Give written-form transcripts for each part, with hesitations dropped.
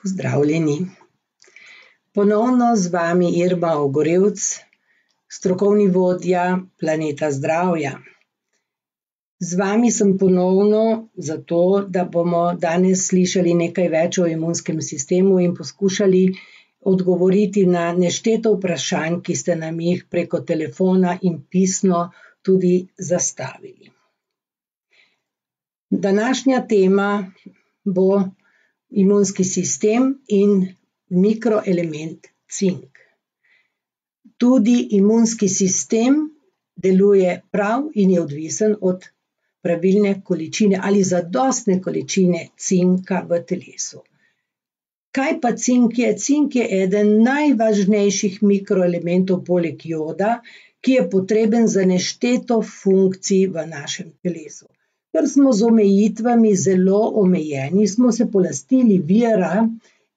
Pozdravljeni. Ponovno z vami Irma Ogorevc, strokovni vodja Planeta zdravja. Z vami sem ponovno zato, da bomo danes slišali nekaj več o imunskem sistemu in poskušali odgovoriti na nešteto vprašanj, ki ste nam jih preko telefona in pisno tudi zastavili. Današnja tema bo imunski sistem in mikroelement cink. Tudi imunski sistem deluje prav in je odvisen od pravilne količine ali zadostne količine cinka v telesu. Kaj pa cink je? Cink je eden najvažnejših mikroelementov poleg joda, ki je potreben za nešteto funkcij v našem telesu. Ker smo z omejitvami zelo omejeni, smo se polastili vira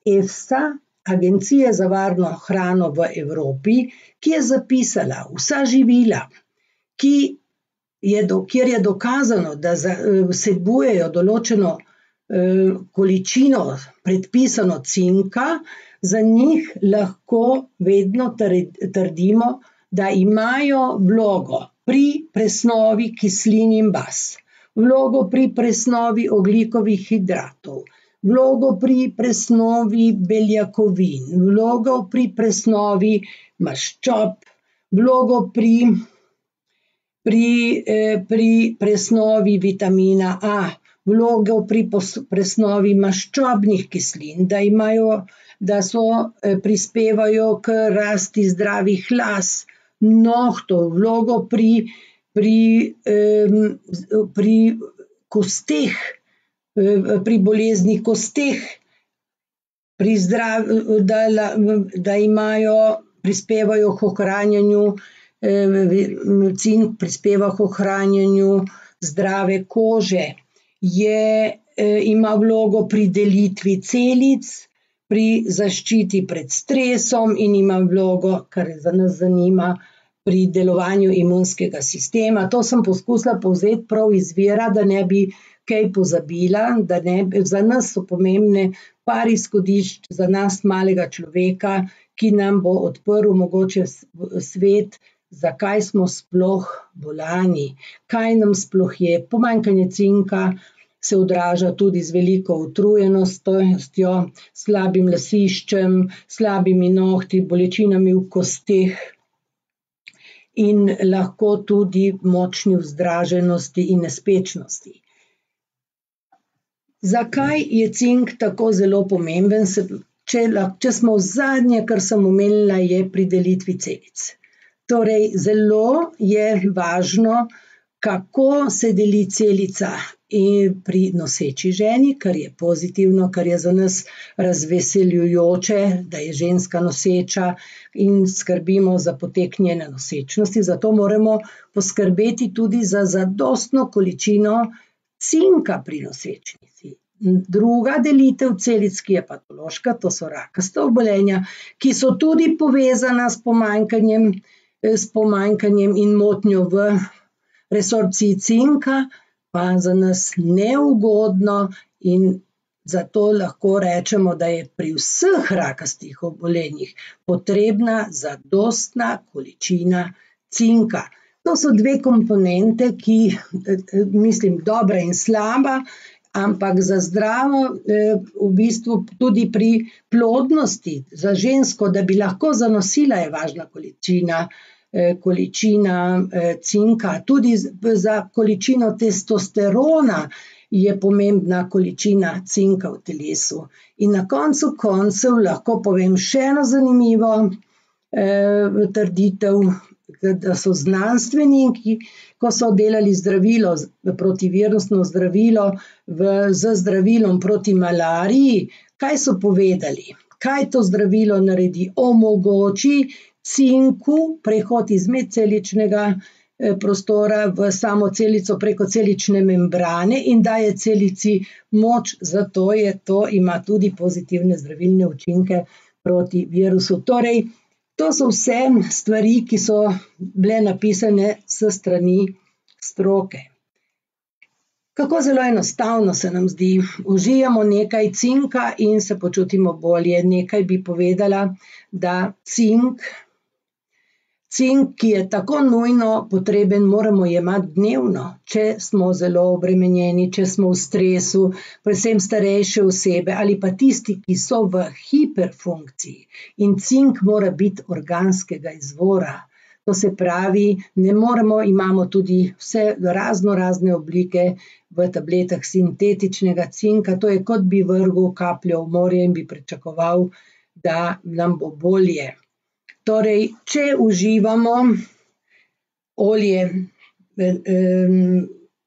EFSA, Agencije za varno hrano v Evropi, ki je zapisala vsa živila, kjer je dokazano, da vsebujejo določeno količino predpisano cinka, za njih lahko vedno trdimo, da imajo vlogo pri presnovi kislin in baz, vlogo pri presnovi ogljikovih hidratov, vlogo pri presnovi beljakovin, vlogo pri presnovi maščob, vlogo pri presnovi vitamina A, vlogo pri presnovi maščobnih kislin, da prispevajo k rasti zdravih las, nohtov, vlogo pri kosteh, pri bolezni kosteh, prispevajo k ohranjanju, cink prispeva k ohranjanju zdrave kože, ima vlogo pri delitvi celic, pri zaščiti pred stresom in ima vlogo, kar za nas zanima, pri delovanju imunskega sistema. To sem poskusila povzeti prav iz vira, da ne bi kaj pozabila, za nas so pomembne par izhodišč za nas malega človeka, ki nam bo odprl mogoče svet, zakaj smo sploh bolani, kaj nam sploh je. Pomanjkanje cinka se odraža tudi z veliko utrujenostjo, slabim lasiščem, slabimi nohti, bolečinami v kosteh in lahko tudi močni vzdraženosti in nespečnosti. Zakaj je cink tako zelo pomemben? Če smo zadnje, kar sem omenila, je pri delitvi celic. Torej, zelo je važno, kako se deli celica pri noseči ženi, kar je pozitivno, kar je za nas razveseljujoče, da je ženska noseča in skrbimo za potek njene nosečnosti, zato moramo poskrbeti tudi za zadostno količino cinka pri nosečnici. Druga delitev celic, ki je patološka, to so rakasta obolenja, ki so tudi povezana s pomanjkanjem in motnjo v resorpciji cinka, pa za nas neugodno in zato lahko rečemo, da je pri vseh rakastih obolenjih potrebna zadostna količina cinka. To so dve komponente, ki mislim dobra in slaba, ampak za zdravo, v bistvu tudi pri plodnosti, za žensko, da bi lahko zanosila, je važna količina cinka, tudi za količino testosterona je pomembna količina cinka v telesu. In na koncu koncev lahko povem še eno zanimivo trditev, da so znanstveniki, ko so delali zdravilo, protivirusno zdravilo z zdravilom proti malariji, kaj so povedali? Kaj to zdravilo naredi? Omogoči cinku prehod iz medceličnega prostora v samo celico preko celične membrane in daje celici moč, zato ima tudi pozitivne zdravilne učinke proti virusu. Torej, to so vse stvari, ki so bile napisane s strani stroke. Kako zelo enostavno se nam zdi. Užijemo nekaj cinka in se počutimo bolje. Nekaj bi povedala, da cink, ki je tako nujno potreben, moramo jemati dnevno, če smo zelo obremenjeni, če smo v stresu, predvsem starejše osebe ali pa tisti, ki so v hiperfunkciji. In cink mora biti organskega izvora. To se pravi, ne moremo, imamo tudi vse razne oblike v tabletah sintetičnega cinka, to je kot bi vrgel kapljo v morje in bi pričakoval, da nam bo bolje. Torej, če uživamo olje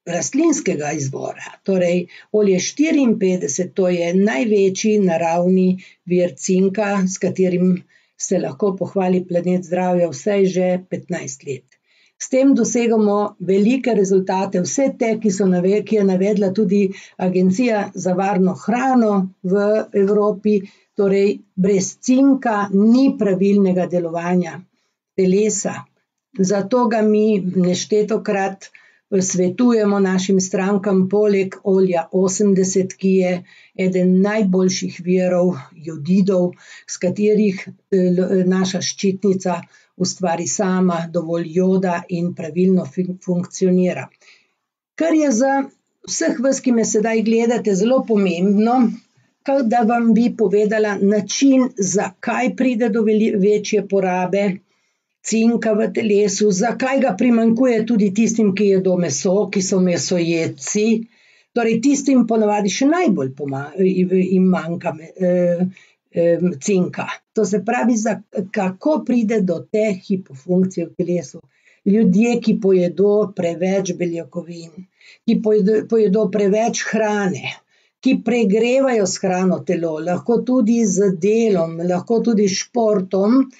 rastlinskega izvora, torej olje 54, to je največji naravni vir cinka, s katerim se lahko pohvali Planet zdravja vsaj že 15 let. S tem dosegamo velike rezultate, vse te, ki je navedla tudi Agencija za varno hrano v Evropi, torej brez cinka ni pravilnega delovanja telesa. Zato ga mi neštetokrat svetujemo našim strankam poleg olja 80, ki je eden najboljših virov jodidov, s katerih naša ščitnica ustvari sama dovolj joda in pravilno funkcionira. Kar je za vseh vas, ki me sedaj gledate, zelo pomembno, da vam bi povedala način, zakaj pride do večje porabe cinka v telesu, zakaj ga primanjkuje tudi tistim, ki jedo meso, ki so mesojedci, torej tistim ponavadi še najbolj jim manjka cinka. To se pravi, kako pride do te hipofunkcije v telesu. Ljudje, ki pojedo preveč beljakovin, ki pojedo preveč hrane, ki pregrevajo s hrano telo, lahko tudi z delom, lahko tudi s športom,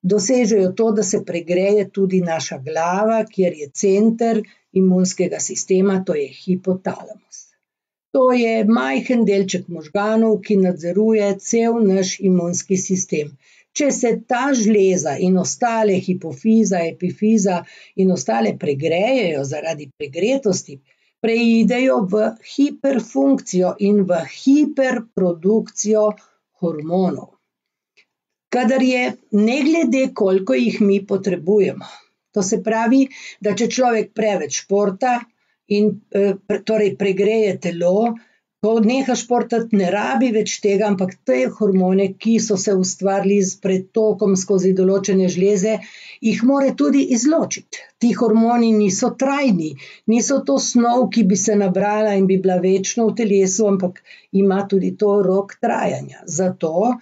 dosežejo to, da se pregreje tudi naša glava, kjer je center imunskega sistema, to je hipotalamus. To je majhen delček možganov, ki nadzoruje cel naš imunski sistem. Če se ta žleza in ostale hipofiza, epifiza in ostale pregrejejo zaradi pregretosti, preidejo v hiperfunkcijo in v hiperprodukcijo hormonov. Kadar je, ne glede, koliko jih mi potrebujemo. To se pravi, da če človek preveč športa in torej pregreje telo, ko neha športati, ne rabi več tega, ampak te hormone, ki so se ustvarili s pretokom skozi določene žleze, jih mora tudi izločiti. Ti hormoni niso trajni, niso to snov, ki bi se nabrala in bi bila večno v telesu, ampak ima tudi to rok trajanja. Zato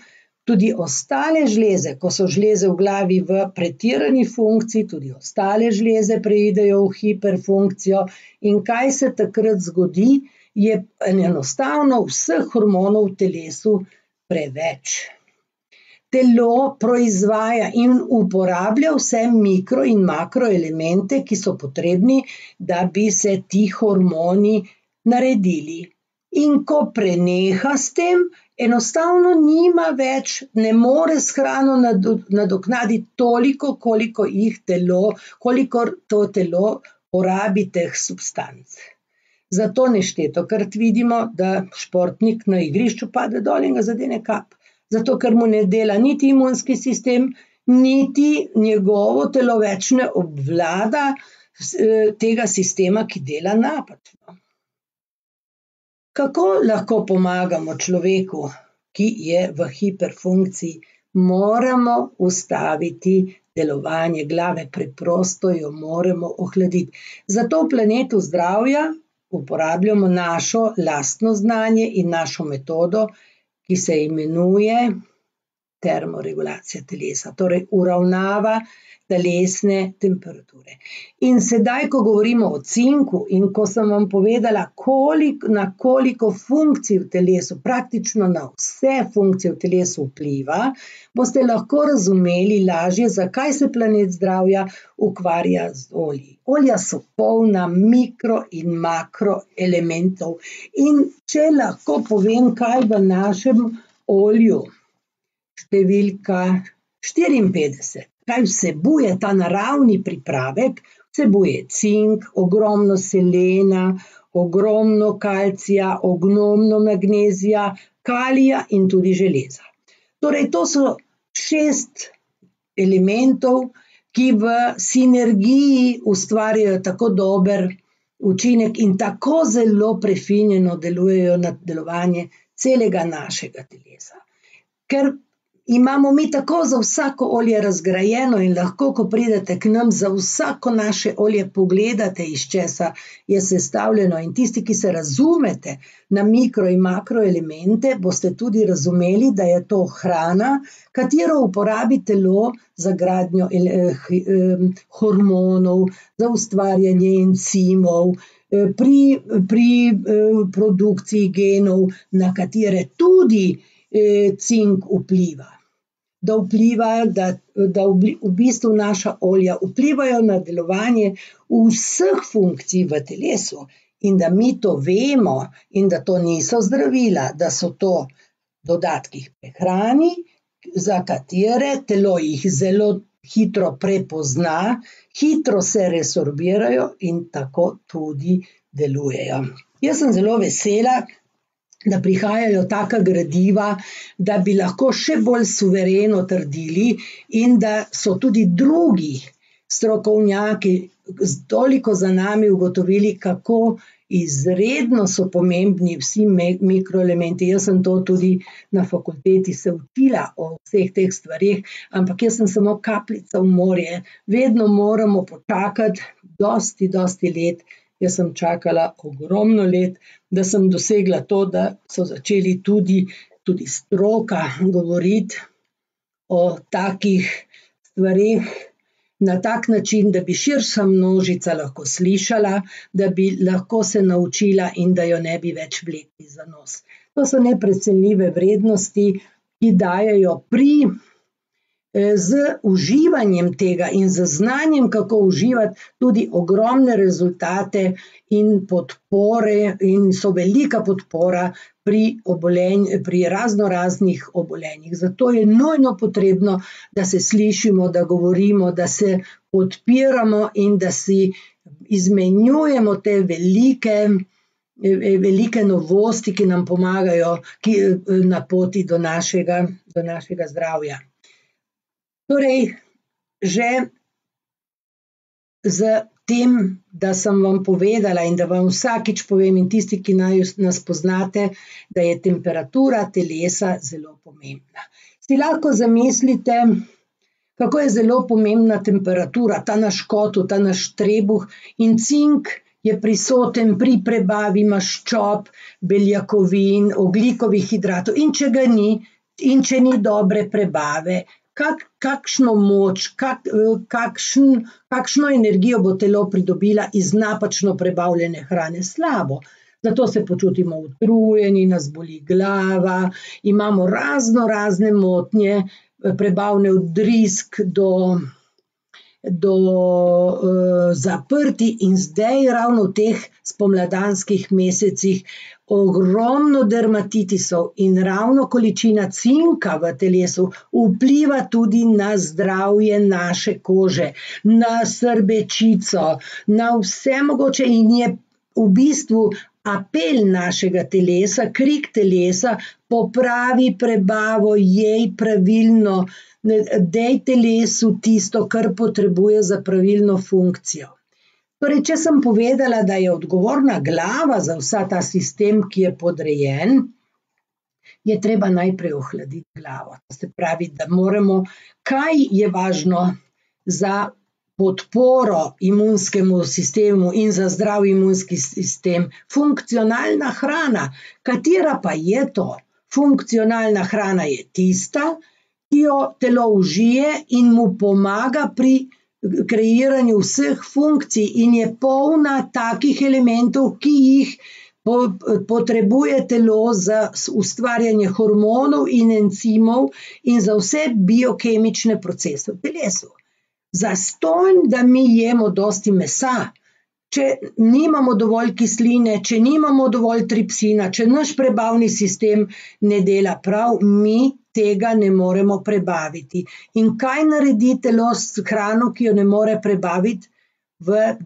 tudi ostale žleze, ko so žleze v glavi v pretirani funkciji, tudi ostale žleze preidejo v hiperfunkcijo. In kaj se takrat zgodi, je enostavno vseh hormonov v telesu preveč. Telo proizvaja in uporablja vse mikro- in makroelemente, ki so potrebni, da bi se ti hormoni naredili. In ko preneha s tem, enostavno nima več, ne more s hrano nadoknaditi toliko, kolikor to telo porabi teh substanc. Zato neštetokrat vidimo, da športnik na igrišču pade dol in ga zadene kap. Zato, ker mu ne dela niti imunski sistem, niti njegovo telo več ne obvlada tega sistema, ki dela napačno. Kako lahko pomagamo človeku, ki je v hiperfunkciji? Moramo ustaviti delovanje glave, preprosto jo moramo ohladiti. Zato v Planetu zdravja uporabljamo našo lastno znanje in našo metodo, ki se imenuje termoregulacija telesa, torej uravnava telesne temperature. In sedaj, ko govorimo o cinku in ko sem vam povedala, na koliko funkcij v telesu, praktično na vse funkcije v telesu vpliva, boste lahko razumeli lažje, zakaj se Planet zdravja ukvarja z olji. Olja so polna mikro- in makroelementov. In če lahko povem, kaj v našem olju, številka 54, kaj vsebuje ta naravni pripravek, vsebuje cink, ogromno selena, ogromno kalcija, ogromno magnezija, kalija in tudi železa. Torej, to so 6 elementov, ki v sinergiji ustvarjajo tako dober učinek in tako zelo prefinjeno delujejo na delovanje celega našega telesa. Ker imamo mi tako za vsako olje razgrajeno in lahko, ko pridete k nam, za vsako naše olje pogledate, iz česa je sestavljeno, in tisti, ki se razumete na mikro in makroelemente, boste tudi razumeli, da je to hrana, katero uporabi telo za gradnjo hormonov, za ustvarjanje encimov, pri produkciji genov, na katere tudi cink vpliva. Da v bistvu naša olja vplivajo na delovanje vseh funkcij v telesu in da mi to vemo in da to niso zdravila, da so to dodatki k prehrani, za katere telo jih zelo hitro prepozna, hitro se resorbirajo in tako tudi delujejo. Jaz sem zelo vesela, da prihajajo taka gradiva, da bi lahko še bolj suvereno trdili in da so tudi drugi strokovnjaki toliko za nami ugotovili, kako izredno so pomembni vsi mikroelementi. Jaz sem to tudi na fakulteti se učila o vseh teh stvareh, ampak jaz sem samo kapljica v morje. Vedno moramo počakati dosti let. Jaz sem čakala ogromno let, da sem dosegla to, da so začeli tudi stroka govoriti o takih stvareh na tak način, da bi širša množica lahko slišala, da bi lahko se naučila in da jo ne bi več vlekli za nos. To so neprecenljive vrednosti, ki dajejo z uživanjem tega in z znanjem, kako uživati, tudi ogromne rezultate in podpore, in so velika podpora pri raznoraznih obolenjih. Zato je nujno potrebno, da se slišimo, da govorimo, da se podpiramo in da si izmenjujemo te velike novosti, ki nam pomagajo na poti do našega zdravja. Torej, že z tem, da sem vam povedala in da vam vsakič povem in tisti, ki nas poznate, da je temperatura telesa zelo pomembna. Si lahko zamislite, kako je zelo pomembna temperatura, ta naš kotel, ta naš trebuh, in cink je prisoten pri prebavi maščob, beljakovin, ogljikovih hidratov, in če ga ni, in če ni dobre prebave, kakšno moč, kakšno energijo bo telo pridobila iz napačno prebavljene hrane? Slabo. Zato se počutimo utrujeni, nas boli glava, imamo razne motnje, prebavne od drisk do zaprti, in zdaj ravno v teh spomladanskih mesecih ogromno dermatitisov in ravno količina cinka v telesu vpliva tudi na zdravje naše kože, na srbečico, na vse mogoče, in je v bistvu apel našega telesa, krik telesa: popravi prebavo, jej pravilno, dej telesu tisto, kar potrebuje za pravilno funkcijo. Torej, če sem povedala, da je odgovorna glava za vsa ta sistem, ki je podrejen, je treba najprej ohladiti glavo. Se pravi, da moramo, kaj je važno za podporo imunskemu sistemu in za zdrav imunski sistem? Funkcionalna hrana. Katera pa je to? Funkcionalna hrana je tista, ki jo telo užije in mu pomaga pri kreiranju vseh funkcij in je polna takih elementov, ki jih potrebuje telo za ustvarjanje hormonov in encimov in za vse biokemične procese v telesu. Zastonj, da mi jemo dosti mesa, če nimamo dovolj kisline, če nimamo dovolj tripsina, če naš prebavni sistem ne dela prav, mi tega ne moremo prebaviti. In kaj naredi telo s hrano, ki jo ne more prebaviti?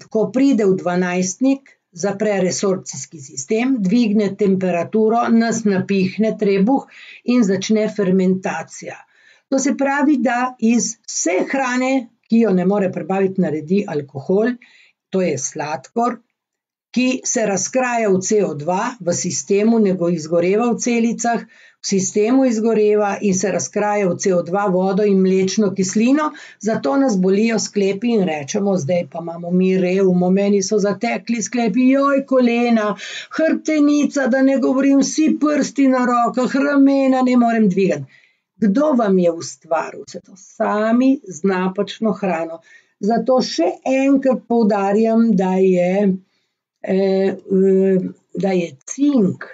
Ko pride v dvanajstnik, zapre resorpcijski sistem, dvigne temperaturo, nas napihne trebuh in začne fermentacija. To se pravi, da iz vse hrane, ki jo ne more prebaviti, naredi alkohol, to je sladkor, ki se razkraja v CO2 v sistemu, ne izgoreva v celicah, v sistemu izgoreva in se razkraja v CO2, vodo in mlečno kislino, zato nas bolijo sklepi in rečemo, zdaj pa imamo mi revmo, meni so zatekli sklepi, joj, kolena, hrbtenica, da ne govorim, vsi prsti na rokah, ramena ne morem dvigati. Kdo vam je ustvaril vse to? Sami z napačno hrano. Zato še enkrat poudarjam, da je cink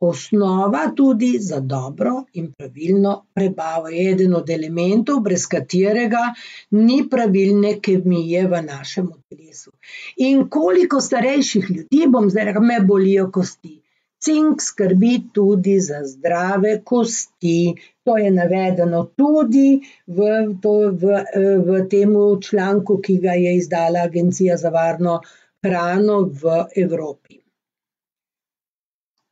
osnova tudi za dobro in pravilno prebavo. Je eden od elementov, brez katerega ni pravilne kemije v našem telesu. In koliko starejših ljudi, bom zdaj rekla, me bolijo kosti. Cink skrbi tudi za zdrave kosti. To je navedeno tudi v temu članku, ki ga je izdala Agencija za varno hrano v Evropi.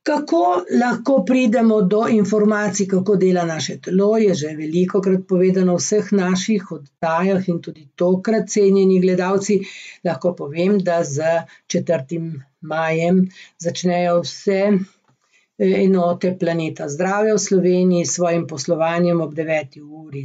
Kako lahko pridemo do informacij, kako dela naše telo, je že velikokrat povedano v vseh naših oddajah in tudi tokrat, cenjeni gledalci, lahko povem, da z 4. majem začnejo vse enote Planeta zdravja v Sloveniji s svojim poslovanjem ob 9. uri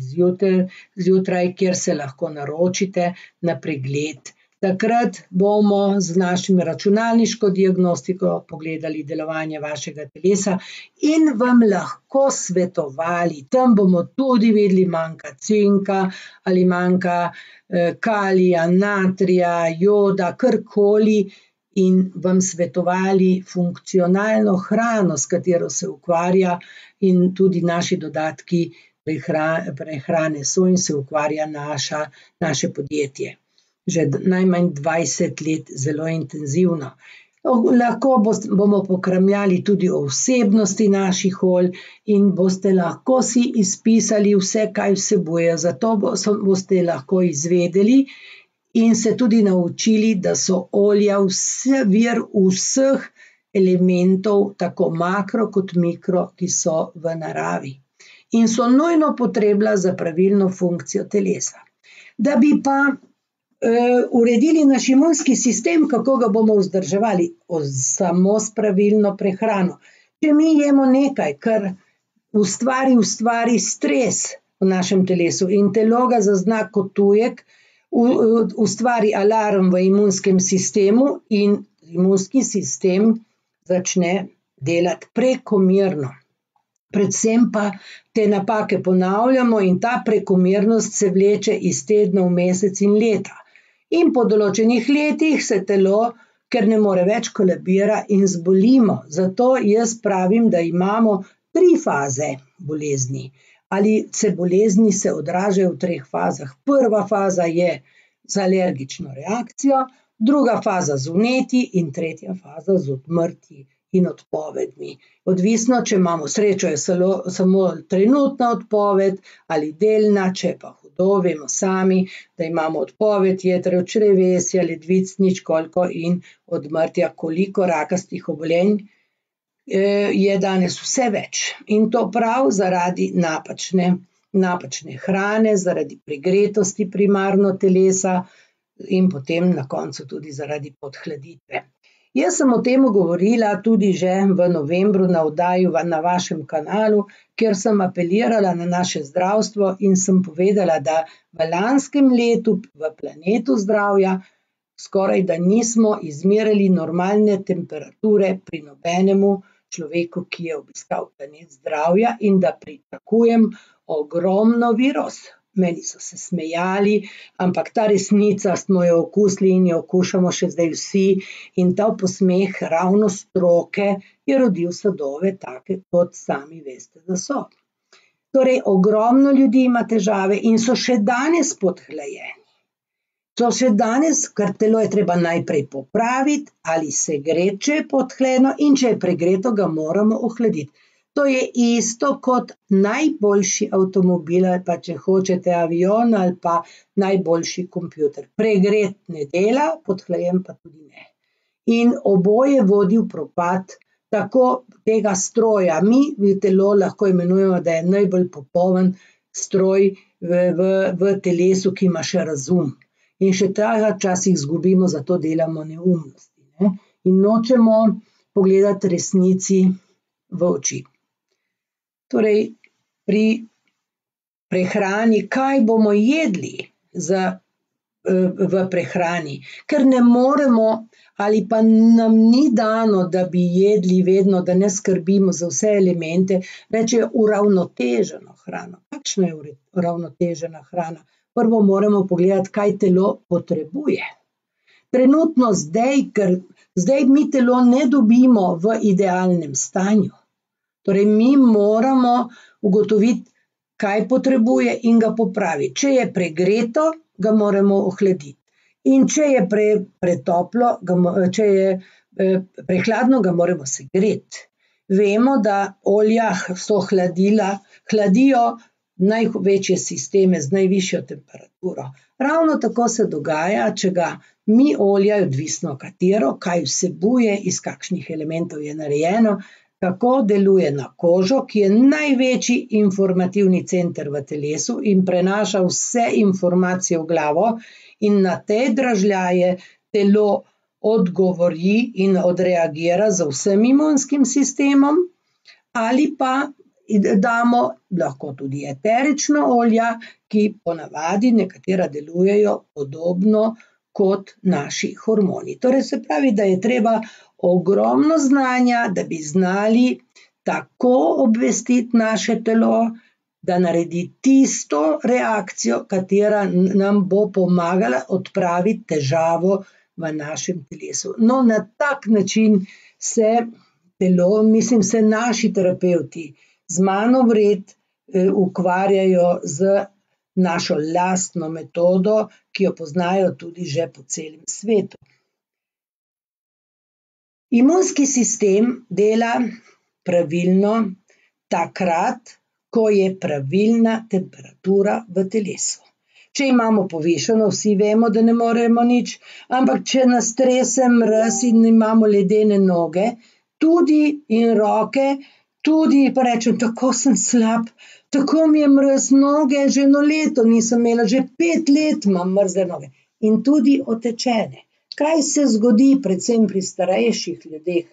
zjutraj, kjer se lahko naročite na pregled. Takrat bomo z našim računalniško diagnostiko pogledali delovanje vašega telesa in vam lahko svetovali. Tam bomo tudi videli, manjka cinka ali manjka kalija, natrija, joda, karkoli in vam svetovali funkcionalno hrano, s katero se ukvarja in tudi naši dodatki prehrane so in se ukvarja naše podjetje. Že najmanj 20 let zelo intenzivno. Lahko bomo pokramljali tudi o vsebnosti naših olj in boste lahko si izpisali vse, kaj vsebuje. Zato boste lahko izvedeli in se tudi naučili, da so olja vir vseh elementov, tako makro kot mikro, ki so v naravi. In so nujno potrebna za pravilno funkcijo telesa. Da bi pa uredili naš imunski sistem, kako ga bomo vzdrževali, samo s pravilno prehrano. Če mi jemo nekaj, kar ustvari stres v našem telesu in telo ga zazna kot tujek, ustvari alarm v imunskem sistemu in imunski sistem začne delati prekomerno. Predvsem pa te napake ponavljamo in ta prekomernost se vleče iz tedna v mesec in leta. In po določenih letih se telo, ker ne more več, kolabira in zbolimo. Zato jaz pravim, da imamo 3 faze bolezni. Ali bolezni se odražajo v 3 fazah. Prva faza je z alergično reakcijo, druga faza z vnetji in tretja faza z odmrtji in odpovedmi. Odvisno, če imamo srečo, je samo trenutna odpoved ali delna, če pa hudo, vemo sami, da imamo odpoved jetrov, črevesja, ledvic, nič koliko in odmrtja, koliko rakastih obolenj je danes vse več. In to prav zaradi napačne hrane, zaradi pregretosti primarno telesa in potem na koncu tudi zaradi podhladitve. Jaz sem o tem govorila tudi že v novembru na oddaji na vašem kanalu, kjer sem apelirala na naše zdravstvo in sem povedala, da v lanskem letu v Planetu zdravja skoraj da nismo izmerili normalne temperature pri nobenemu človeku, ki je obiskal Planet zdravja in da pričakujem ogromno virus. Meni so se smejali, ampak ta resnica smo jo okusili in jo okušamo še zdaj vsi in ta posmeh ravno stroke je rodil sadove take, kot sami veste, da so. Torej, ogromno ljudi ima težave in so še danes podhlajeni. So še danes, ker telo je treba najprej popraviti ali segreti, če je podhlajeno in če je pregreto, ga moramo ohladiti. To je isto kot najboljši avtomobil ali pa če hočete avion ali pa najboljši kompjuter. Pregret ne dela, podhlajen pa tudi ne. in oboje vodi v propad tako tega stroja. Mi telo lahko imenujemo, da je najbolj popoln stroj v telesu, ki ima še razum. In še tega včasih izgubimo, zato delamo neumnosti, ne? In nočemo pogledati resnici v oči. Torej, pri prehrani, kaj bomo jedli v prehrani, ker ne moremo ali pa nam ni dano, da bi jedli vedno, da ne skrbimo za vse elemente, rečejo uravnoteženo hrano. Kakšna je uravnotežena hrana? Prvo moramo pogledati, kaj telo potrebuje. Trenutno zdaj mi telo ne dobimo v idealnem stanju. Torej, mi moramo ugotoviti, kaj potrebuje in ga popraviti. Če je pregreto, ga moramo ohladiti. In če je pretoplo, če je prehladno, ga moramo segreti. Vemo, da olja so hladijo največje sisteme z najvišjo temperaturo. Ravno tako se dogaja, če ga mi olja, odvisno katero, kaj vsebuje, iz kakšnih elementov je narejeno, kako deluje na kožo, ki je največji informativni center v telesu in prenaša vse informacije v glavo, in na te dražljaje telo odgovori in odreagira z vsem imunskim sistemom, ali pa damo lahko tudi eterična olja, ki ponavadi nekatera delujejo podobno kot naši hormoni. Torej se pravi, da je treba ogromno znanja, da bi znali tako obvestiti naše telo, da naredi tisto reakcijo, katera nam bo pomagala odpraviti težavo v našem telesu. No, na tak način se naši terapevti z mano vred ukvarjajo z našo lastno metodo, ki jo poznajo tudi že po celem svetu. Imunski sistem dela pravilno takrat, ko je pravilna temperatura v telesu. Če imamo povišano, vsi vemo, da ne moremo nič, ampak če nas trese mraz in imamo ledene noge, tudi in roke, tudi pa rečem, tako sem slab, tako mi je mraz noge, že 1 leto nisem imela, že 5 let imam mrzle noge in tudi otečene. Kaj se zgodi predvsem pri starejših ljudeh,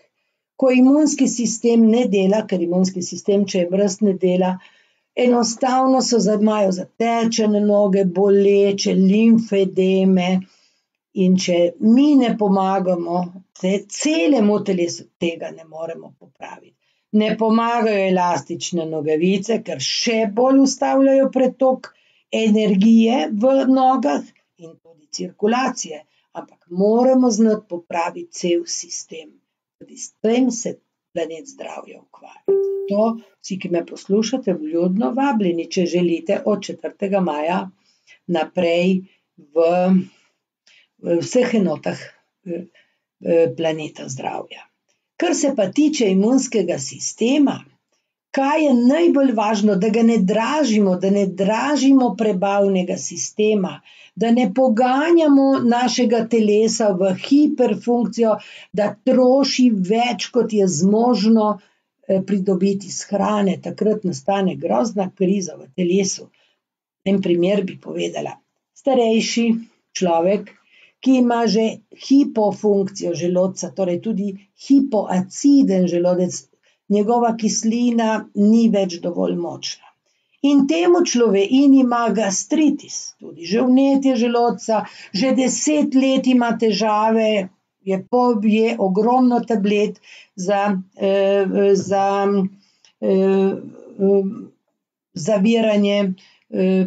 ko imunski sistem ne dela, ker imunski sistem, če je mraz, ne dela, enostavno imajo zatečene noge, boleče, limfedeme, in če mi ne pomagamo, celemu telesu tega ne moremo popraviti. Ne pomagajo elastične nogavice, ker še bolj ustavljajo pretok energije v nogah in tudi cirkulacije, ampak moramo znati popraviti cel sistem. Tudi s tem se Planet zdravja ukvarja. Zato vsi, ki me poslušate, vljudno vabljeni, če želite, od 4. maja naprej v vseh enotah Planeta zdravja. Kar se pa tiče imunskega sistema, kaj je najbolj važno, da ga ne dražimo, da ne dražimo prebavnega sistema, da ne poganjamo našega telesa v hiperfunkcijo, da troši več, kot je zmožno pridobiti iz hrane. Takrat nastane grozna kriza v telesu. En primer bi povedala. Starejši človek, ki ima že hipofunkcijo želodca, torej tudi hipoaciden želodec, njegova kislina ni več dovolj močna. In temu in ima gastritis, tudi že vnetje želodca, že 10 let ima težave, je ogromno tablet za zaviranje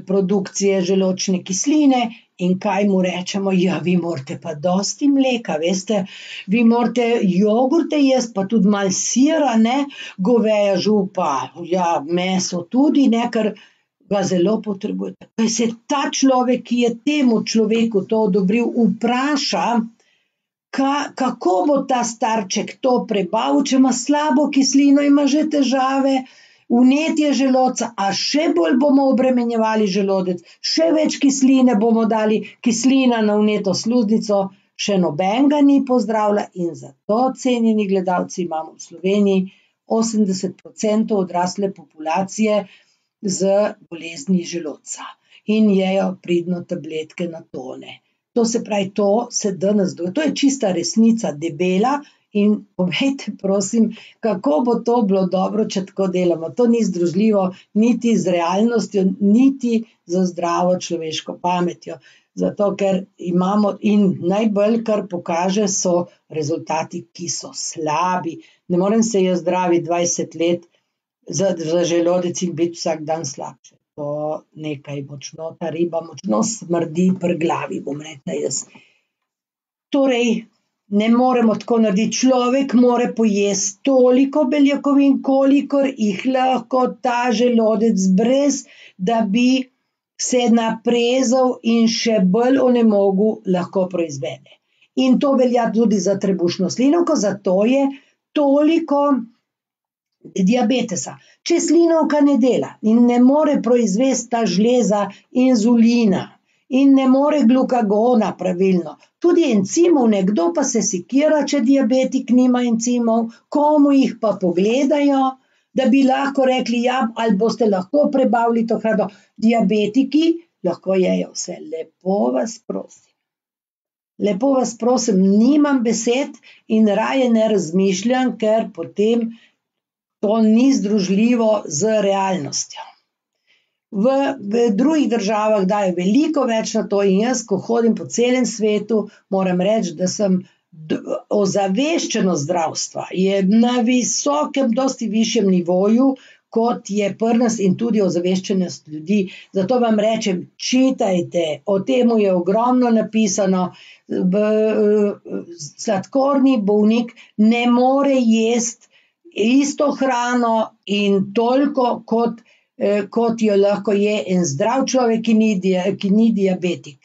produkcije želodčne kisline. In kaj mu rečemo? Ja, vi morate pa dosti mleka, veste, vi morate jogurte jesti, pa tudi malo sira, ne, goveja župa, ja, meso tudi, ne, ker ga zelo potrebuje. Kaj se ta človek, ki je temu človeku to odobril, vpraša, kako bo ta starček to prebavil, če ima slabo kislino, ima že težave, vnetje želodca, a še bolj bomo obremenjevali želodec, še več kisline bomo dali, kislina na vneto sluznico, še nobenega ni pozdravila in zato, cenjeni gledalci, imamo v Sloveniji 80% odrasle populacije z bolezni želodca in jejo pridno tabletke na tone. To se pravi, to se danes dogaja, to je čista resnica, debela, in povejte, prosim, kako bo to bilo dobro, če tako delamo. To ni združljivo niti z realnostjo, niti z zdravo človeško pametjo. Zato, ker imamo in najbolj, kar pokaže, so rezultati, ki so slabi. Ne morem se jaz zdraviti 20 let za želodec in biti vsak dan slabše. To nekaj močno, ta riba močno smrdi pri glavi, bom rekla jaz. Torej, ne moremo tako narediti. Človek mora pojesti toliko beljakovin, kolikor jih lahko ta želodec, brez da bi se naprezal in še bolj onemogel, lahko proizvede. In to velja tudi za trebušno slinavko, zato je toliko diabetesa. Če slinavka ne dela in ne more proizvesti ta žleza inzulina in ne more glukagona pravilno, tudi encimov, nekdo pa se sekira, če diabetik nima encimov, komu jih pa pogledajo, da bi lahko rekli, ja, ali boste lahko prebavili to hrano. Diabetiki lahko jejo vse. Lepo vas prosim. Lepo vas prosim, nimam besed in raje ne razmišljam, ker potem to ni združljivo z realnostjo. V drugih državah dajo veliko več na to in jaz, ko hodim po celem svetu, moram reči, da sem ozaveščenost zdravstva je na visokem, dosti višjem nivoju, kot je pri nas in tudi ozaveščenost ljudi. Zato vam rečem, čitajte, o temu je ogromno napisano. Sladkorni bolnik ne more jesti isto hrano in toliko, kot jo lahko je en zdrav človek, ki ni diabetik.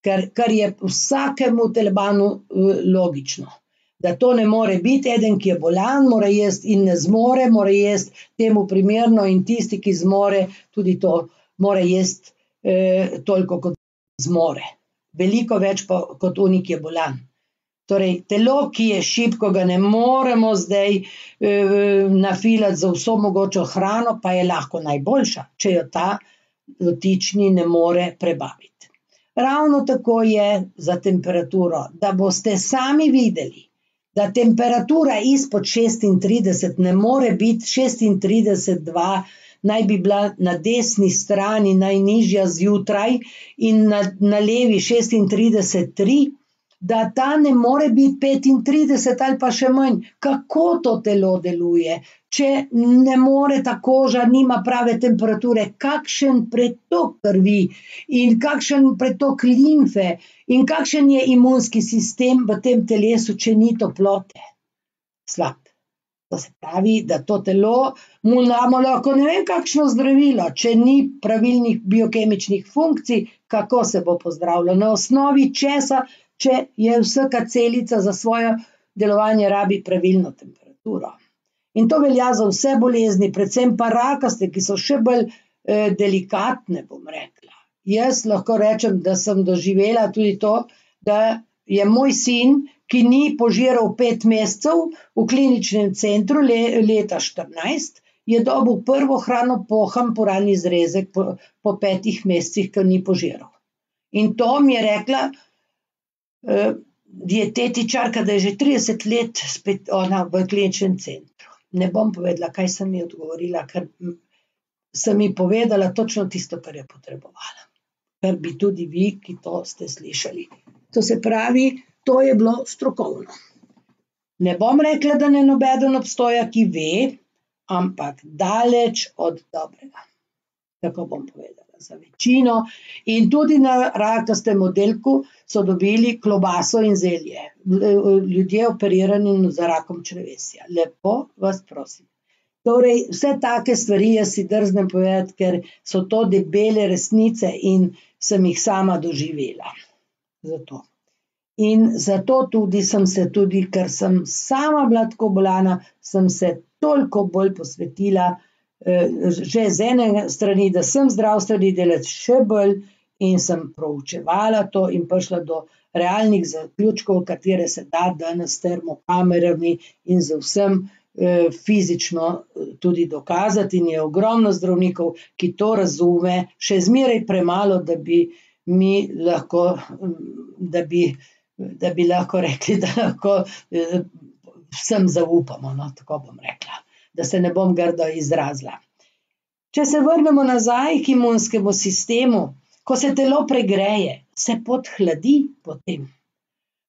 Kar je vsakemu telebanu logično. Da to ne more biti, eden, ki je bolan, mora jesti in ne zmore, mora jesti temu primerno in tisti, ki zmore, tudi to mora jesti toliko, kot zmore. Veliko več pa kot oni, ki je bolan. Torej, telo, ki je šibko, ga ne moremo zdaj nafilati za vso mogočo hrano, pa je lahko najboljša, če jo ta dotični ne more prebaviti. Ravno tako je za temperaturo, da boste sami videli, da temperatura izpod 36 ne more biti 36,2, naj bi bila na desni strani najnižja zjutraj in na levi 36,3, da ta ne more biti 35 ali pa še manj. Kako to telo deluje? Če ne more ta koža, nima prave temperature, kakšen pretok krvi in kakšen pretok limfe in kakšen je imunski sistem v tem telesu, če ni toplote? Slab. To se pravi, da to telo mu damo lahko ne vem kakšno zdravilo, če ni pravilnih biokemičnih funkcij, kako se bo pozdravilo, na osnovi česa, če je vsaka celica za svoje delovanje rabi pravilno temperaturo. In to velja za vse bolezni, predvsem pa rakaste, ki so še bolj delikatne, bom rekla. Jaz lahko rečem, da sem doživela tudi to, da je moj sin, ki ni požiral 5 mesecev v kliničnem centru leta 14, je dobil prvo hrano poham poralni zrezek po 5 mesecih, ker ni požiral. In to mi je rekla dietetičarka, da je že 30 let spet ona v kliničnem centru. Ne bom povedala, kaj sem ji odgovorila, ker sem ji povedala točno tisto, kar je potrebovala. Kar bi tudi vi, ki to ste slišali. To se pravi, to je bilo strokovno. Ne bom rekla, da ne nobeden obstoja, ki ve, ampak daleč od dobrega. Tako bom povedala. Za večino in tudi na rakastem oddelku so dobili klobaso in zelje. Ljudje operirani za rakom črevesja. Lepo vas prosim. Torej, vse take stvari jaz si drznem povedati, ker so to debele resnice in sem jih sama doživela. Zato. In zato tudi sem se tudi, ker sem sama bila tako bolana, sem se toliko bolj posvetila že z ene strani, da sem zdravstveni delavec še bolj in sem proučevala to in prišla do realnih zaključkov, katere se da danes s termokamerami in z vsem fizično tudi dokazati, in je ogromno zdravnikov, ki to razume, še zmeraj premalo, da bi lahko rekli, da lahko vsem zaupamo, no, tako bom rekla, da se ne bom grdo izrazila. Če se vrnemo nazaj k imunskemu sistemu, ko se telo pregreje, se podhladi potem.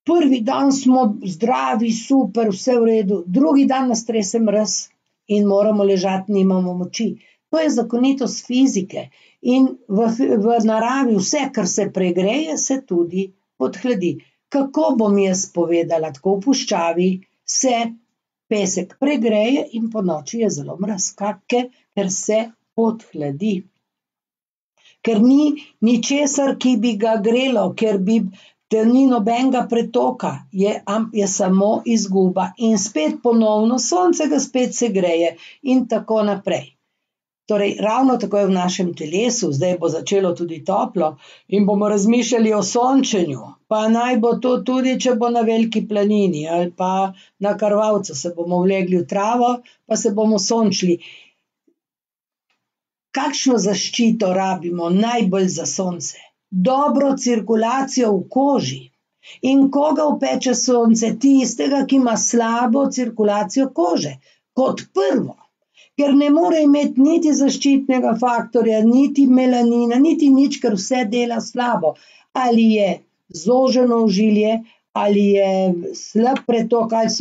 Prvi dan smo zdravi, super, vse v redu, drugi dan nas trese mraz in moramo ležati, nimamo moči. To je zakonitost fizike in v naravi vse, kar se pregreje, se tudi podhladi. Kako bom jaz povedala, tako v puščavi se pesek pregreje in ponoči je zelo mraz, ker se podhladi. Ker ni ničesar, ki bi ga grelo, ker ni nobenega pretoka, je samo izguba in spet ponovno sonce ga spet segreje in tako naprej. Torej, ravno tako je v našem telesu, zdaj bo začelo tudi toplo in bomo razmišljali o sončenju, pa naj bo to tudi, če bo na veliki planini ali pa na Krvavcu, se bomo vlegli v travo, pa se bomo sončili. Kakšno zaščito rabimo najbolj za sonce? Dobro cirkulacijo v koži. In koga opeče sonce? Tistega, ki ima slabo cirkulacijo kože. Kot prvo. Ker ne more imeti niti zaščitnega faktorja, niti melanina, niti nič, ker vse dela slabo. Ali je zoženo ožilje, ali je slab pretok, ali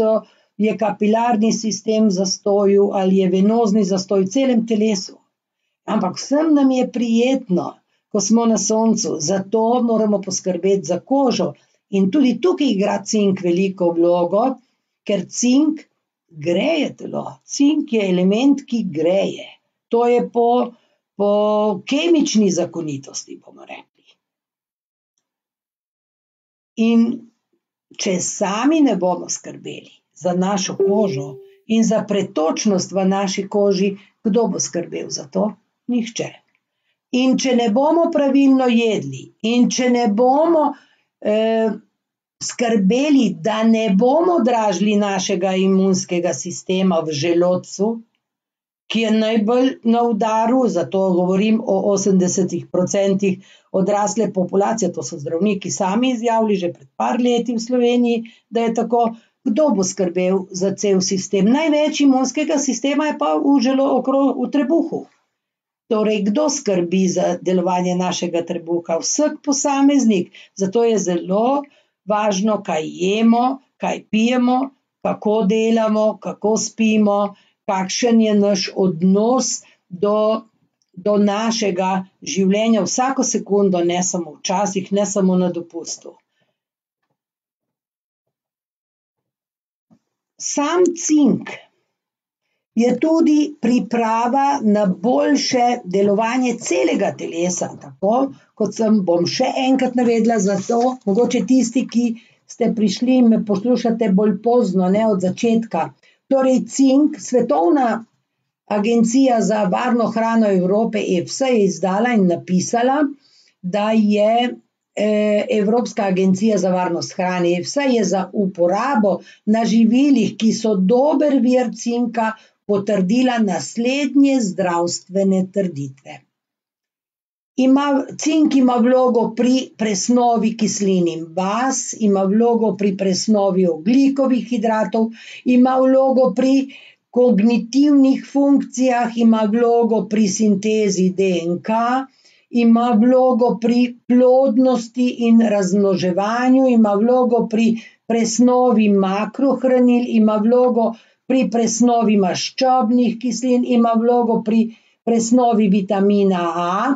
je kapilarni sistem v zastoju, ali je venozni zastoj v celem telesu. Ampak vsem nam je prijetno, ko smo na soncu, zato moramo poskrbeti za kožo. In tudi tukaj igra cink veliko vlogo, ker cink greje telo. Cink je element, ki greje. To je po kemični zakonitosti, bomo rekli. In če sami ne bomo skrbeli za našo kožo in za pretočnost v naši koži, kdo bo skrbel za to? Nihče. In če ne bomo pravilno jedli, in če ne bomo skrbeli, da ne bomo dražili našega imunskega sistema v želodcu, ki je najbolj na udaru, zato govorim o 80% odrasle populacije, to so zdravniki sami izjavili že pred par leti v Sloveniji, da je tako, kdo bo skrbel za cel sistem. Največ imunskega sistema je pa v trebuhu. Torej, kdo skrbi za delovanje našega trebuha? Vsak posameznik. Zato je zelo važno, kaj jemo, kaj pijemo, kako delamo, kako spimo, kakšen je naš odnos do našega življenja vsako sekundo, ne samo včasih, ne samo na dopustu. Sam cink je tudi priprava na boljše delovanje celega telesa, tako kot bom še enkrat navedla, zato mogoče tisti, ki ste prišli in me poslušate bolj pozno, ne od začetka. Torej cink, Svetovna agencija za varno hrano Evrope, EFSA, je izdala in napisala, da je Evropska agencija za varnost hrane, EFSA, je za uporabo na živilih, ki so dober vir cinka, potrdila naslednje zdravstvene trditve. Cink ima vlogo pri presnovi kislin in baz, ima vlogo pri presnovi ogljikovih hidratov, ima vlogo pri kognitivnih funkcijah, ima vlogo pri sintezi DNK, ima vlogo pri plodnosti in razmnoževanju, ima vlogo pri presnovi makrohranil, ima vlogo pri presnovi maščobnih kislin, ima vlogo pri presnovi vitamina A,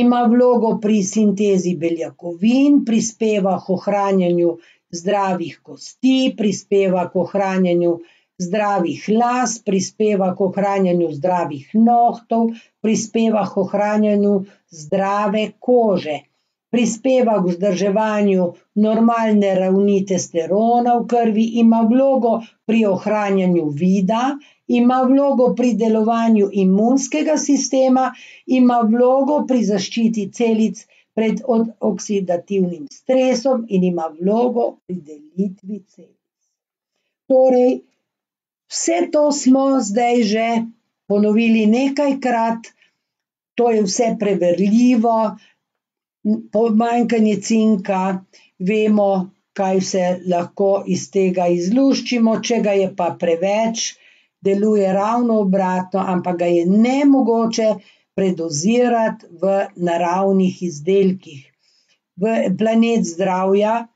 ima vlogo pri sintezi beljakovin, prispeva k ohranjanju zdravih kosti, prispeva k ohranjanju zdravih las, prispeva k ohranjanju zdravih nohtov, prispeva k ohranjanju zdrave kože, prispeva k vzdrževanju normalne ravni testosterona v krvi, ima vlogo pri ohranjanju vida, ima vlogo pri delovanju imunskega sistema, ima vlogo pri zaščiti celic pred oksidativnim stresom in ima vlogo pri delitvi celic. Torej, vse to smo zdaj že ponovili nekajkrat, to je vse preverljivo, pomanjkanje cinka, vemo, kaj vse lahko iz tega izluščimo, če ga je pa preveč, deluje ravno obratno, ampak ga je nemogoče predozirati v naravnih izdelkih. Planet Zdravja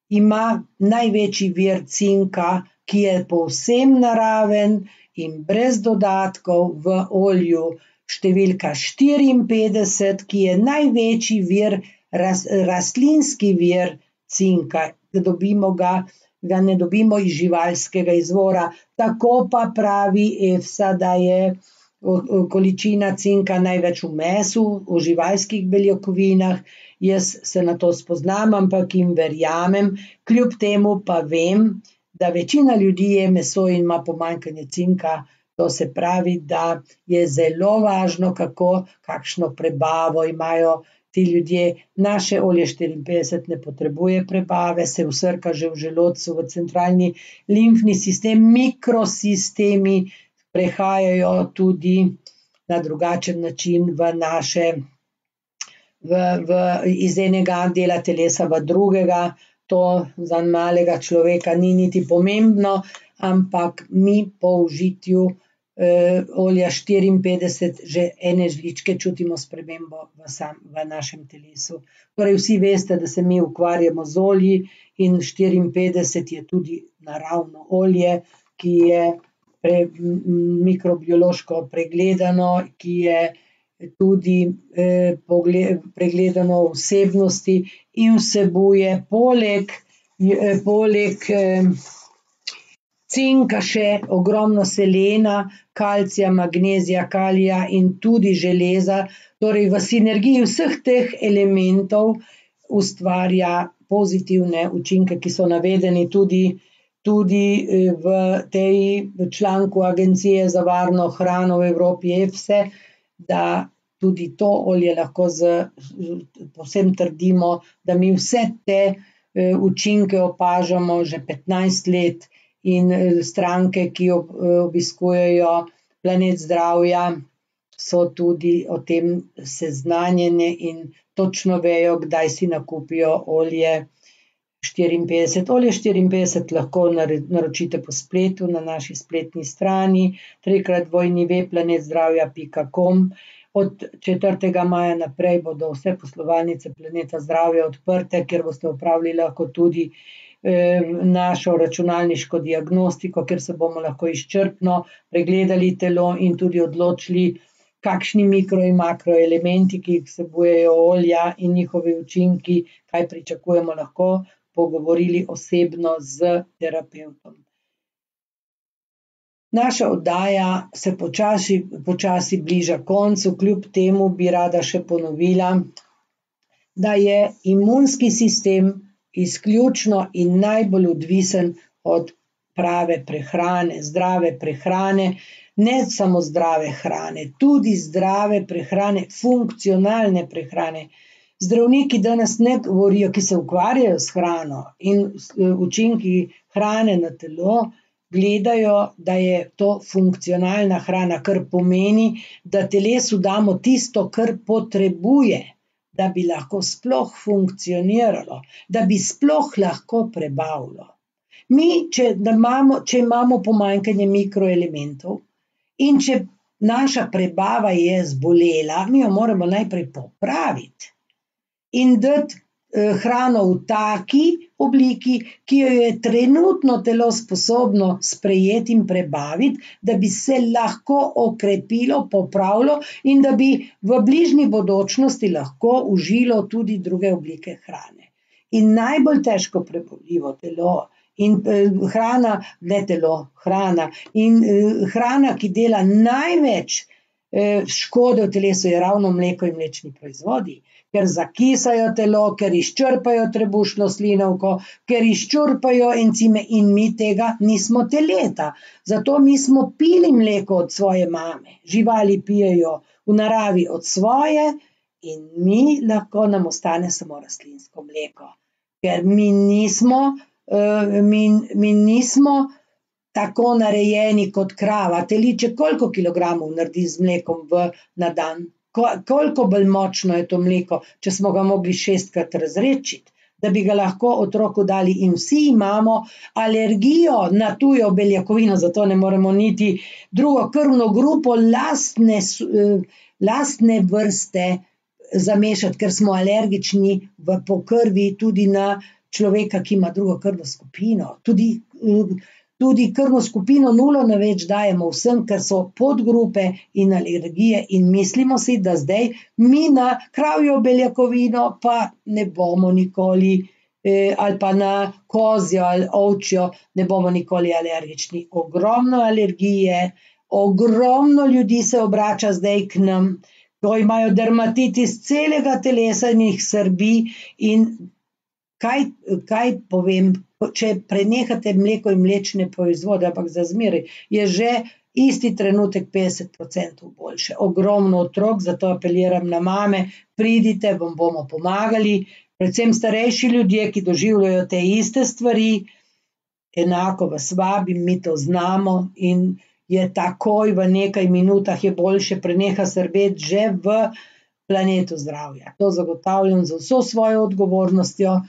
ima največji vir cinka, ki je povsem naraven in brez dodatkov v olju številka 54, ki je največji vir, rastlinski vir cinka. Ga ne dobimo iz živalskega izvora. Tako pa pravi EFSA, da je količina cinka največ v mesu, v živalskih beljakovinah. Jaz se na to spoznam, ampak jim verjamem, kljub temu pa vem, da večina ljudi je meso in ima pomanjkanje cinka. To se pravi, da je zelo važno, kakšno prebavo imajo ti ljudje. Naše olje 54 ne potrebuje prebave, se vsrka že v želodcu, v centralni limfni sistem, mikrosistemi prehajajo tudi na drugačen način iz enega dela telesa v drugega. To za malega človeka ni niti pomembno, ampak mi po užitju olja 54 že ene žličke čutimo spremembo v našem telesu. Torej vsi veste, da se mi ukvarjamo z olji in 54 je tudi naravno olje, ki je mikrobiološko pregledano, ki je tudi pregledano vsebnosti in vsebuje poleg cinka še ogromno selena, kalcija, magnezija, kalija in tudi železa. Torej v sinergiji vseh teh elementov ustvarja pozitivne učinke, ki so navedeni tudi v tej članku Agencije za varno hrano v Evropi EFSE, da tudi to olje lahko povsem trdimo, da mi vse te učinke opažamo že 15 let in stranke, ki obiskujejo Planet Zdravja, so tudi o tem seznanjene in točno vejo, kdaj si nakupijo olje 54. Olje 54 lahko naročite po spletu na naši spletni strani www.planetzdravja.com. Od 4. maja naprej bodo vse poslovalnice Planeta Zdravja odprte, kjer boste opravili lahko tudi našo računalniško diagnostiko, kjer se bomo lahko izčrpno pregledali telo in tudi odločili, kakšni mikro in makroelementi, ki jih vsebujejo olja in njihovi učinki, kaj pričakujemo, lahko pogovorili osebno z terapevtom. Naša oddaja se počasi bliža koncu, kljub temu bi rada še ponovila, da je imunski sistem izključno in najbolj odvisen od prave prehrane, zdrave prehrane, ne samo zdrave hrane, tudi zdrave prehrane, funkcionalne prehrane. Zdravniki danes ne govorijo, ki se ukvarjajo s hrano in učinki hrane na telo, gledajo, da je to funkcionalna hrana, kar pomeni, da telesu damo tisto, kar potrebuje, da bi lahko sploh funkcioniralo, da bi sploh lahko prebavilo. Mi, če imamo pomanjkanje mikroelementov in če naša prebava je zbolela, mi jo moramo najprej popraviti in dati hrano v taki obliki, ki jo je trenutno telo sposobno sprejeti in prebaviti, da bi se lahko okrepilo, popravilo in da bi v bližnji bodočnosti lahko užilo tudi druge oblike hrane. In najbolj težko prebavljivo telo in hrana, ki dela največ škode v telesu, je ravno mleko in mlečni proizvodi, ker zakisajo telo, ker izčrpajo trebušno slinavko, ker izčrpajo encime in mi tega nismo teleta. Zato mi smo pili mleko od svoje mame, živali pijejo v naravi od svoje In nam ostane samo rastlinsko mleko. Ker mi nismo tako narejeni kot krava. Teliček koliko kilogramov naredi z mlekom na dan? Koliko bolj močno je to mleko, če smo ga mogli 6-krat razredčiti, da bi ga lahko otroku dali. In vsi imamo alergijo na tujo beljakovino, zato ne moremo niti drugo krvno grupo lastne vrste zamešati, ker smo alergični po krvi tudi na človeka, ki ima drugo krvno skupino. Tudi krvno skupino 0 na več dajemo vsem, ker so podgrupe in alergije, in mislimo si, da zdaj mi na kravjo beljakovino pa ne bomo nikoli, ali pa na kozjo ali ovčjo ne bomo nikoli alergični. Ogromno alergije, ogromno ljudi se obrača zdaj k nam, ko imajo dermatitis celega telesa in jih srbi. In kaj povem, če prenehate mleko in mlečne proizvode, ampak za zmeraj, je že isti trenutek 50% boljše. Ogromno otrok, zato apeliram na mame, pridite, vam bomo pomagali, predvsem starejši ljudje, ki doživljajo te iste stvari, enako vas vabim, mi to znamo in je takoj v nekaj minutah je boljše, preneha srbeti že v Planetu zdravja. To zagotavljam z vso svojo odgovornostjo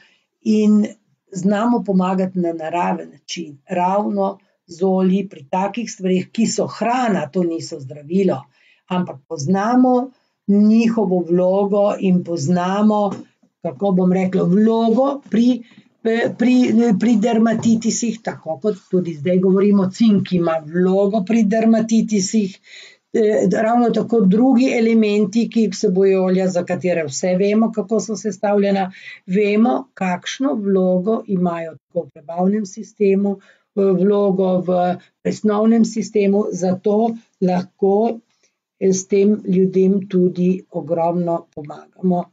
in znamo pomagati na naraven način, ravno z olji pri takih stvareh, ki so hrana, to niso zdravilo, ampak poznamo njihovo vlogo in poznamo, kako bom rekla, vlogo pri dermatitisih, tako kot tudi zdaj govorimo, cink ima vlogo pri dermatitisih, ravno tako drugi elementi, ki vsebujejo olja, za katere vse vemo, kako so sestavljena, vemo, kakšno vlogo imajo tako v prebavnem sistemu, vlogo v presnovnem sistemu, zato lahko s tem ljudem tudi ogromno pomagamo.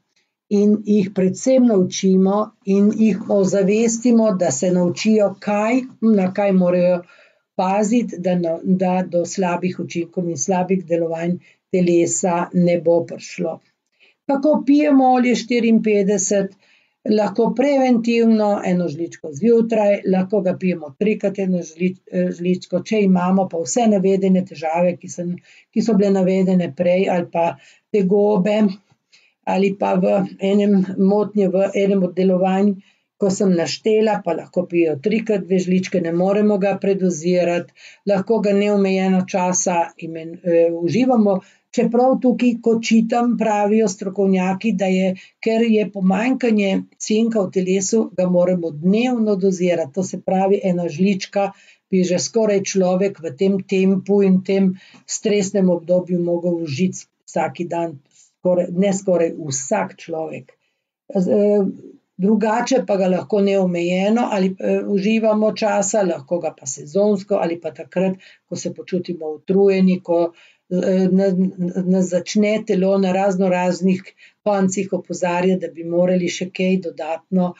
In jih predvsem naučimo in jih ozavestimo, da se naučijo, na kaj morajo paziti, da do slabih učinkov in slabih delovanj telesa ne bo prišlo. Kako pijemo olje 54? Lahko preventivno 1 žličko zjutraj, lahko ga pijemo 3-krat 1 žličko, če imamo pa vse navedene težave, ki so bile navedene prej, ali pa tegobe, ali pa motnje v enem od delovanj, ko sem naštela, pa lahko pijejo 3-krat 2 žličke, ne moremo ga predozirati, lahko ga neomejeno časa uživamo, čeprav tukaj, ko čitam, pravijo strokovnjaki, ker je pomanjkanje cinka v telesu, ga moramo dnevno dozirati, to se pravi 1 žlička bi že skoraj človek v tem tempu in tem stresnem obdobju mogel užiti vsak dan, vsak človek. Drugače pa ga lahko neomejeno ali uživamo časa, lahko ga pa sezonsko ali pa takrat, ko se počutimo utrujeni, ko nas začne telo na raznih koncih opozarjati, da bi morali še kaj dodatno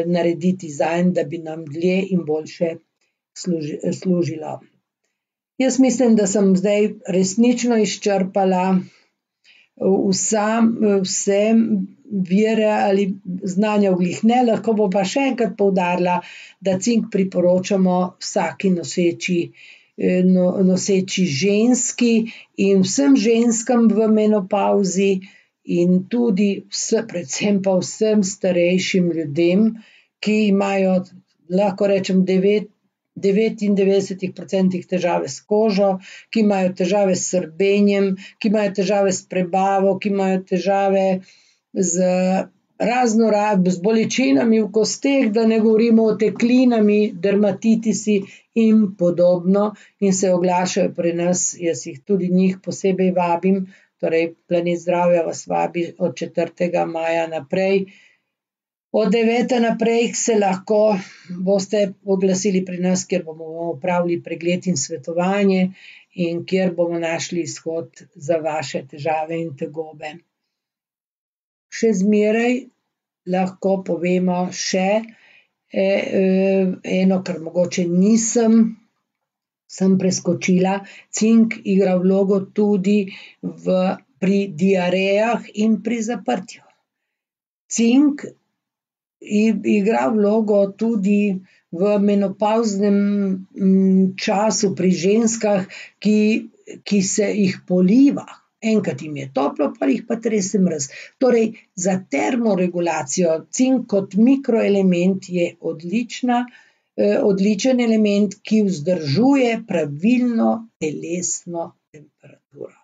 narediti zanj, da bi nam dlje in boljše služilo. Jaz mislim, da sem zdaj resnično izčrpala vse vire ali znanja glih ne, lahko bom pa še enkrat poudarila, da cink priporočamo vsaki noseči ženski in vsem ženskam v menopavzi in tudi predvsem pa vsem starejšim ljudem, ki imajo, lahko rečem, 99% težave s kožo, ki imajo težave s srbenjem, ki imajo težave s prebavo, ki imajo težave z bolečinami v kosteh, da ne govorimo o oteklinami, dermatitisi in podobno, in se oglašajo pri nas, jaz jih tudi njih posebej vabim, torej Planet zdravja vas vabi od 4. maja naprej. Od 9. naprej se lahko boste oglasili pri nas, kjer bomo opravili pregled in svetovanje in kjer bomo našli izhod za vaše težave in tegobe. Še zmeraj lahko povemo še eno, kar mogoče sem preskočila, cink igra vlogo tudi pri diarejah in pri zaprtju. Cink igra vlogo tudi v menopavznem času pri ženskah, ki se jih poliva. Enkrat jim je toplo, pol jih pa trese mraz. Torej, za termoregulacijo cink kot mikroelement je odličen element, ki vzdržuje pravilno telesno temperaturo.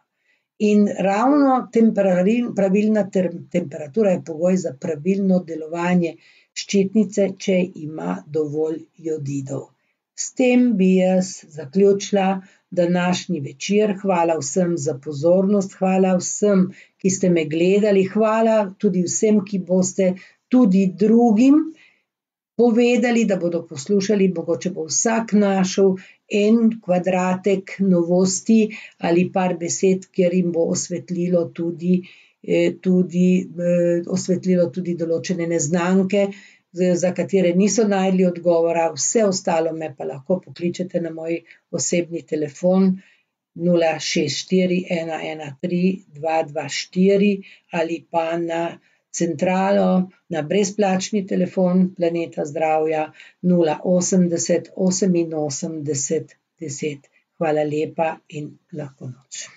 In ravno pravilna temperatura je pogoj za pravilno delovanje ščitnice, če ima dovolj jodidov. S tem bi jaz zaključila današnji večer. Hvala vsem za pozornost, hvala vsem, ki ste me gledali, hvala tudi vsem, ki boste tudi drugim povedali, da bodo poslušali, mogoče bo vsak našel en kvadratek novosti ali par besed, kjer jim bo osvetlilo tudi določene neznanke, za katere niso našli odgovora, vse ostalo me pa lahko pokličete na moj osebni telefon 064 113 224 ali pa na centralo, na brezplačni telefon Planeta zdravja 080 88 10. Hvala lepa in lahko noč.